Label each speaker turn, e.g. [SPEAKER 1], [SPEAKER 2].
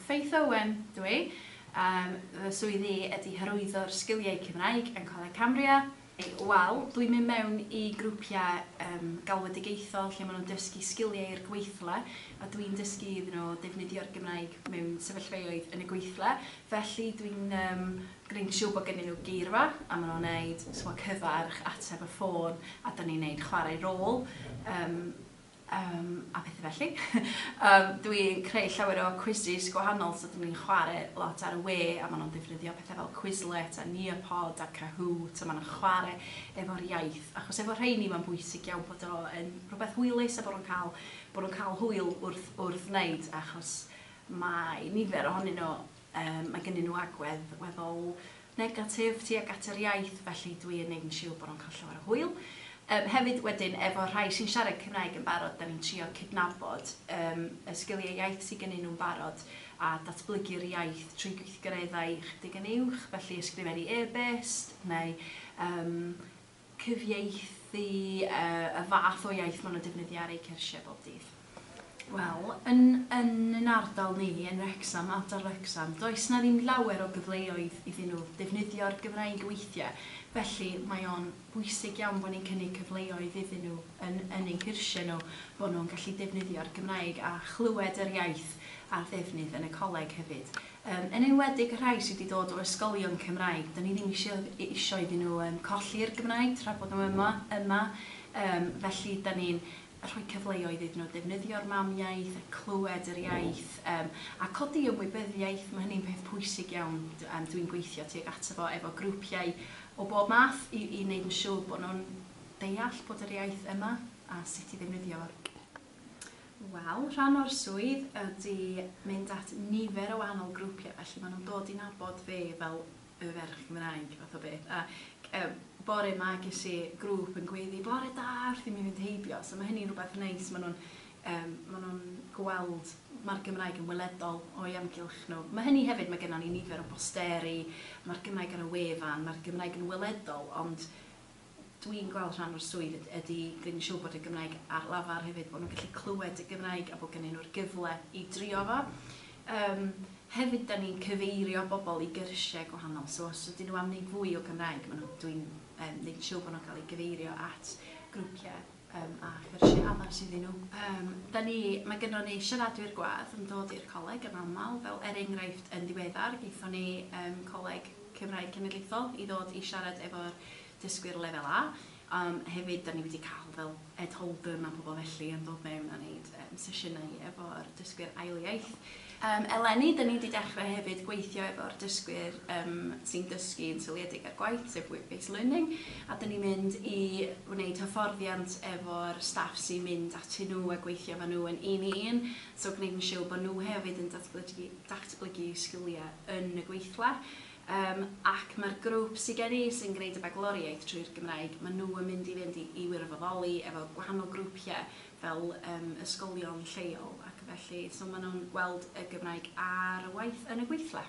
[SPEAKER 1] Faith Owen dw i. Yym, fy swydd i ydy hyrwyddo'r sgiliau Cymraeg yn Coleg Cambria. Wel, dwi'n mynd mewn i grwpiau yym galwedigaethol lle maen nhw'n dysgu sgiliau i'r gweithle, a dwi'n dysgu iddyn nhw defnyddio'r Gymraeg mewn sefyllfaoedd yn y gweithle. Felly dwi'n yym gwneud yn siŵr bod gennyn nhw geirfa, a maen nhw'n wneud sbo cyfarch, ateb y ffôn, a dan ni'n wneud chwarae rôl. Yym yym a pethe felly. Yym dwi'n creu llawer o quizzes gwahanol so 'dyn ni'n chware lot ar y we a ma' nhw'n defnyddio pethe fel Quizlet a Nearpod a Kahoot a ma' nhw'n chware efo'r iaith achos efo rheini ma'n bwysig iawn bod o yn rhywbeth hwylus a bod nhw'n cael bod nhw'n cael hwyl wrth wrth wneud achos mae nifer ohonyn nhw yym mae gynnyn nhw agwedd weddol negatif tuag at yr iaith, felly dwi yn neud yn siwr bod nhw'n cael llawer o hwyl. Yym hefyd wedyn efo rhai sy'n siarad Cymraeg yn barod, 'dan ni'n trio cydnabod yym y sgiliau iaith sy gynnyn nhw'n barod a datblygu'r iaith trwy gweithgareddau chydig yn uwch, felly ysgrifennu e-byst neu yym cyfieithu y fath o iaith maen nhw'n defnyddio ar eu cyrsiau bob dydd. Wel, yn yn yn ardal ni, yn Wrecsam, ardal Wrecsam, does 'na ddim llawer o gyfleoedd iddyn nhw defnyddio'r Gymraeg weithiau, felly mae o'n bwysig iawn bod ni'n cynnig cyfleoedd iddyn nhw yn yn ein cyrsiau nhw, bod nhw'n gallu defnyddio'r Gymraeg a chlywed yr iaith a'r ddefnydd yn y coleg hefyd. Yym, yn enwedig y rhai sy 'di dod o ysgolion Cymraeg, 'dan ni ddim isio isio iddyn nhw yym colli'r Gymraeg tra bod nhw yma yma, yym felly 'dan ni'n rhoi cyfleoedd iddyn nhw defnyddio'r mamiaith a clywed yr iaith yym a codi ymwybyddiaeth, ma' hynny'n peth pwysig iawn yym dwi'n gweithio tuag ato fo efo grwpiau o bob math i i neud yn siŵr bod nhw'n deall bod yr iaith yma a sut i ddefnyddio fo. Wel, rhan o'r swydd ydy mynd at nifer o wahanol grwpiau, felly maen nhw'n dod i nabod fi fel y ferch Gymraeg fath o beth. A yy bore 'ma ges i grŵp yn gweiddi "bore da" wrth i mi fynd heibio, so ma' hynny'n rywbeth neis, maen nhw'n yym maen nhw'n gweld mae'r Gymraeg yn weledol o'u amgylch nhw. Ma' hynny hefyd, mae gennon ni nifer o bosteri, ma'r Gymraeg ar y wefan, ma'r Gymraeg yn weledol, ond Dwi'n gweld rhan o'r swydd ydy gwneud yn siŵr bod y Gymraeg ar lafar hefyd, bod nhw'n gallu clywed y Gymraeg a bod gennyn nhw'r gyfle i drio fo. Yym, hefyd 'dan ni'n cyfeirio bobl i gyrsiau gwahanol, so os ydyn nhw am wneud fwy o Gymraeg, maen nhw... dwi'n yym wneud yn siŵr bod nhw'n cael eu gyfeirio at grwpiau yym a chyrsiau addas iddyn nhw. Yym, 'dan ni... mae gynnon ni siaradwyr gwadd yn dod i'r coleg yn aml, fel er enghraifft yn ddiweddar gaethon ni yym Coleg Cymraeg Cenedlaethol i ddod i siarad efo'r dysgwyr Lefel A. Yym hefyd 'dan ni wedi cael fel Ed Holden a pobl felly yn dod mewn a neud yym sesiynau efo'r dysgwyr ail iaith. Yym eleni 'dan ni 'di dechrau hefyd gweithio efo'r dysgwyr yym sy'n dysgu yn seiliedig ar gwaith, sef work based learning, a 'dan ni'n mynd i wneud hyfforddiant efo'r staff sy'n mynd atyn nhw a gweithio efo nhw yn un i un, so gwneud yn siwr bod nhw hefyd yn datblygu datblygu sgiliau yn y gweithle. Yym ac mae'r grŵp sy gen i sy'n gwneud y bagloriaeth trwy'r Gymraeg, maen nhw yn mynd i fynd i i wirfoddoli efo gwahanol grwpiau fel yym ysgolion lleol ac felly, so maen nhw'n gweld y Gymraeg ar waith yn y gweithle.